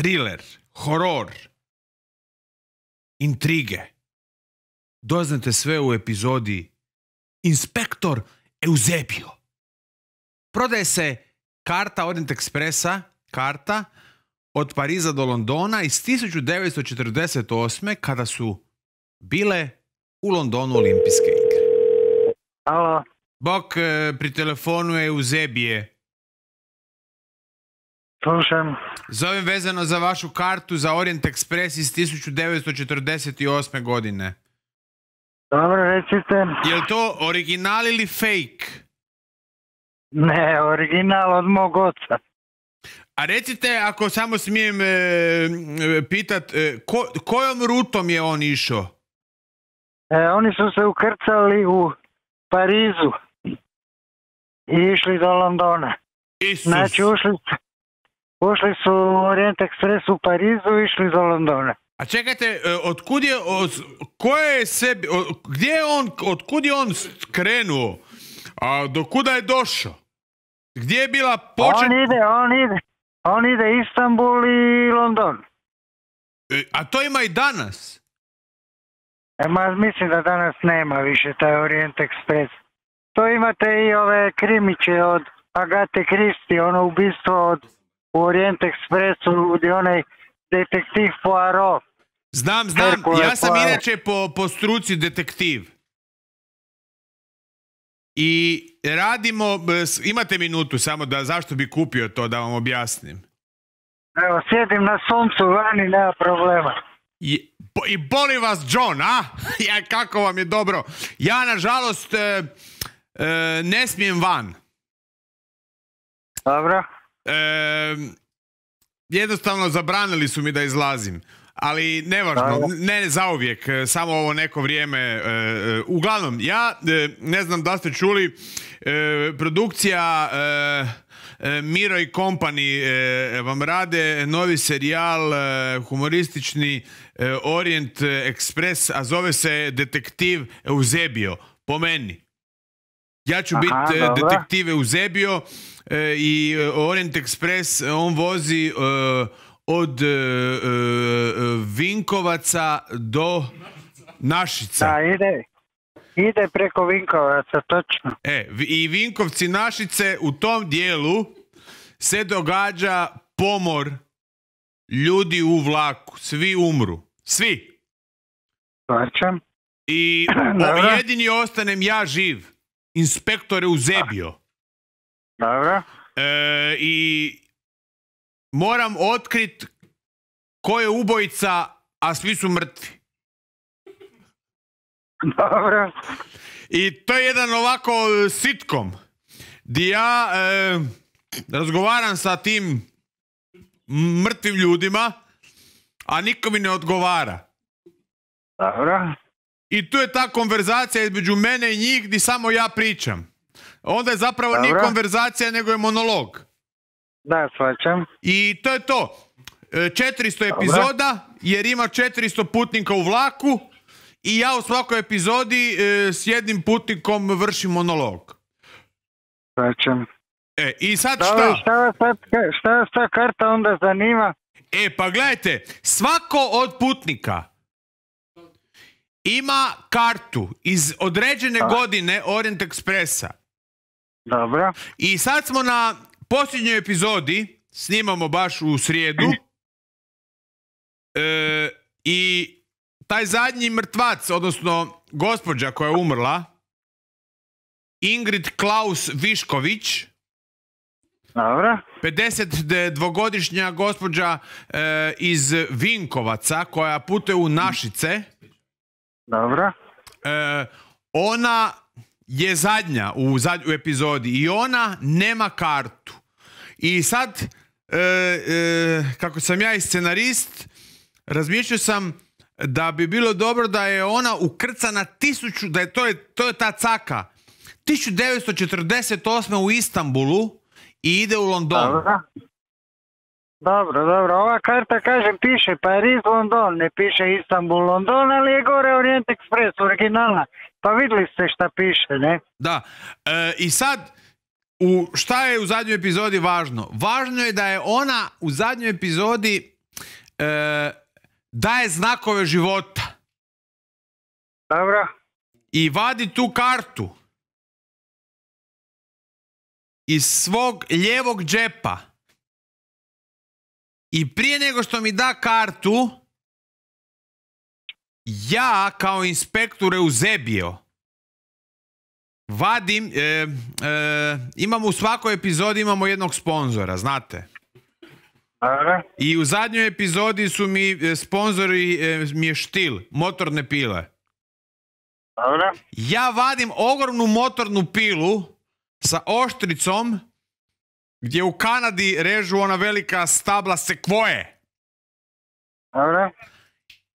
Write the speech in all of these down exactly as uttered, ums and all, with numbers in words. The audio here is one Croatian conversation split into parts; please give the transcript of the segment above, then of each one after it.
thriller, horor, intrige. Doznate sve u epizodi Inspektor Eusebio. Prodaje se karta Orient Expressa, karta od Pariza do Londona iz tisuću devetsto četrdeset osme kada su bile u Londonu olimpijske igre. Alo. Bok, pri telefonu je Eusebije. Slušam. Zovem vezano za vašu kartu za Orient Express iz tisuću devetsto četrdeset osme godine. Dobro, recite. Je li to original ili fake? Ne, original od mog oca. A recite, ako samo smijem e, e, pitat, e, ko, kojom rutom je on išao? E, oni su se ukrcali u Parizu i išli do Londona. Isus. Znači, ušli, ušli su u Orient Express u Parizu i išli do Londona. A čekajte, e, otkud je, od, koje je sebi, od, gdje je on, otkud je on krenuo? A do kuda je došao? Gdje je bila počet... On ide, on ide. On ide Istanbul i London. E, a to ima i danas? E, ma, mislim da danas nema više taj Orient Express. To imate i ove krimiće od Agate Christie, ono ubistvo od u Orient Expressu, gdje onaj detektiv Poirot. Znam, znam, Herkule ja sam Poirot. inače po, po struci detektiv. I radimo, imate minutu samo da zašto bi kupio to, da vam objasnim. Evo, sjedim na suncu vani, nema problema. I, bo- i boli vas John, a? Ja, kako vam je dobro. Ja, nažalost, e, e, ne smijem van. Dobro. E, jednostavno zabranili su mi da izlazim. Ali nevažno, Dobro. ne, ne zauvijek, e, samo ovo neko vrijeme. E, e, uglavnom, ja e, ne znam da ste čuli, e, produkcija e, e, Miro i Company e, vam rade novi serijal e, humoristični e, Orient Express, a zove se Detektiv Eusebio, po meni. Ja ću Aha, biti e, dobro. detektiv Eusebio e, i e, Orient Express, on vozi e, od e, e, Vinkovaca do Našica. Da, ide. Ide preko Vinkovaca, točno. E, vi- i Vinkovci Našice, u tom dijelu se događa pomor ljudi u vlaku. Svi umru. Svi. Svačam. I Dobro. o, jedini ostanem ja živ. Inspektor Eusebio. Dobro. E, I moram otkrit ko je ubojica, a svi su mrtvi. Dobro. I to je jedan ovako e, sitcom gdje ja e, razgovaram sa tim mrtvim ljudima, a niko mi ne odgovara. Dobro. I tu je ta konverzacija između mene i njih gdje samo ja pričam. Onda je zapravo nije Dobro. konverzacija, nego je monolog. Da, svačam. I to je to. E, četiristo epizoda, jer ima četiristo putnika u vlaku i ja u svakoj epizodi e, s jednim putnikom vršim monolog. Svačam. E, i sad Dobro, šta? šta vas sad, šta vas ta karta onda zanima? E, pa gledajte, svako od putnika ima kartu iz određene Da. godine Orient Expressa. Dobro. I sad smo na posljednjoj epizodi, snimamo baš u srijedu, e, i taj zadnji mrtvac, odnosno gospođa koja je umrla, Ingrid Klaus Višković, Dobro. pedeset dvogodišnja gospođa e, iz Vinkovaca koja putuje u Našice, Dobro. e, ona je zadnja u, zadnj, u epizodi i ona nema kartu. I sad, e, e, kako sam ja i scenarist, razmišljao sam da bi bilo dobro da je ona ukrcana tisuću, da je to je, to je ta caka, tisuću devetsto četrdeset osme u Istanbulu i ide u London. Dobro. Dobro, dobro. Ova karta, kažem, piše Pariz, London. Ne piše Istanbul, London, ali je gore Orient Express, originalna. Pa vidjeli ste šta piše, ne? Da. E, I sad, u, šta je u zadnjoj epizodi važno? Važno je da je ona u zadnjoj epizodi e, daje znakove života. Dobro. I vadi tu kartu iz svog lijevog džepa. I prije nego što mi da kartu, ja kao inspektor Eusebio vadim, e, e, imamo u svakoj epizodi imamo jednog sponzora, znate. Dobro. I u zadnjoj epizodi su mi e, sponzori, e, mi je Štil, motorne pile. Dobro. Ja vadim ogromnu motornu pilu sa oštricom gdje u Kanadi režu ona velika stabla sekvoje. Dobro.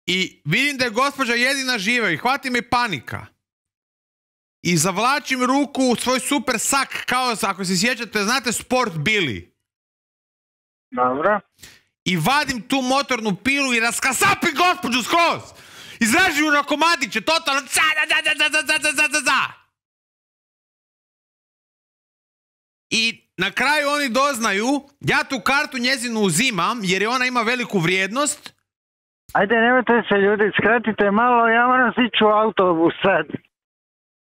I vidim da je gospođa jedina živa i hvati me panika. I zavlačim ruku u svoj super sak, kao ako se sjećate, znate Sport Billy. Dobro. I vadim tu motornu pilu i raskasapim gospođu skroz. Izražim ju na komadiće, totalno za, za, za, za, za, za, za, za, za. I na kraju oni doznaju, ja tu kartu njezinu uzimam jer je ona ima veliku vrijednost. Ajde, nemojte se ljudi, skratite malo, ja moram sići u autobus sad.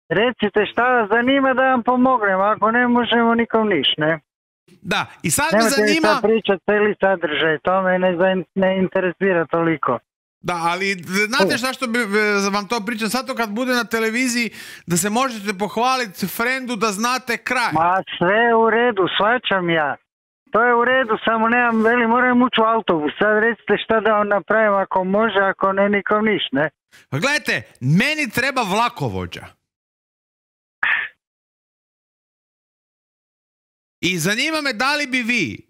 Recite šta vas zanima da vam pomognem, ako ne možemo nikom niš, ne? Da, i sad me Nemojte zanima... Nemojte mi sad pričati cijeli sadržaj, to me ne, ne interesira toliko. Da, ali znate šta što bi vam to pričam sad to kad bude na televiziji da se možete pohvaliti frendu da znate kraj. Ma sve u redu, shvaćam ja. To je u redu, samo nemam, veli, moram ući u autobus. Sad recite šta da on napravim ako može, ako ne, nikom niš, ne? Pa gledajte, meni treba vlakovođa. I zanima me da li bi vi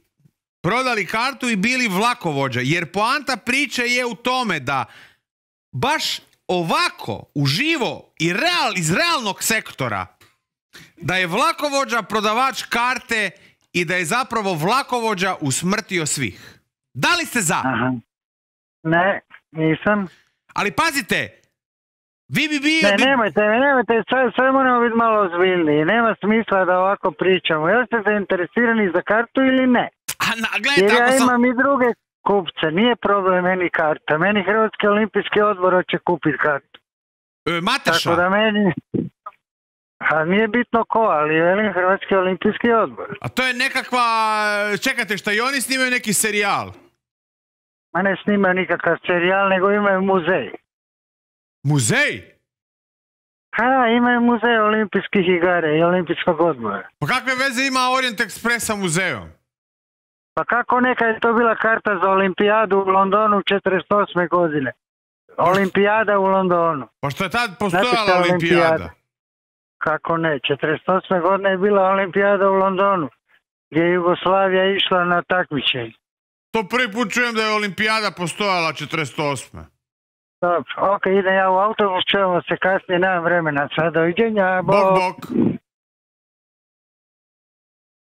prodali kartu i bili vlakovođa, jer poanta priče je u tome da baš ovako, uživo i real, iz realnog sektora, da je vlakovođa prodavač karte i da je zapravo vlakovođa usmrtio svih. Da li ste za? Aha. Ne, nisam. Ali pazite, vi bi bio... Ne, bi... nemojte, nemojte, sad, sad moramo biti malo ozbiljniji. Nema smisla da ovako pričamo. Jel ste zainteresirani za kartu ili ne? A, na, gledajte, jer ja sam... imam i druge kupce, nije problem meni karta. Meni Hrvatski olimpijski odbor hoće kupiti kartu. E, Mateša? Tako da meni... A nije bitno ko, ali velim Hrvatski olimpijski odbor. A to je nekakva... Čekajte, šta i oni snimaju neki serijal? Ma ne snimaju nikakav serijal, nego imaju muzej. Muzej? Ha, imaju muzej olimpijskih igara i olimpijskog odbora. Pa kakve veze ima Orient Express sa muzejom? Pa kako neka je to bila karta za olimpijadu u Londonu četrdeset osme godine? Olimpijada u Londonu. Pa što je tad postojala olimpijada? olimpijada? Kako ne, četrdeset osme godine je bila olimpijada u Londonu, gdje je Jugoslavija išla na takmičenje. To prvi put čujem da je olimpijada postojala četrdeset osme. Dobro, ok, idem ja u autobus, čujemo se kasnije, nemam vremena sad, doviđenja, bok. Bok, bok.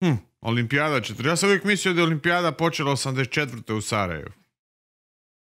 Hm, olimpijada četrdeset. Ja sam uvijek mislio da je olimpijada počela osamdeset četvrte u Sarajevu.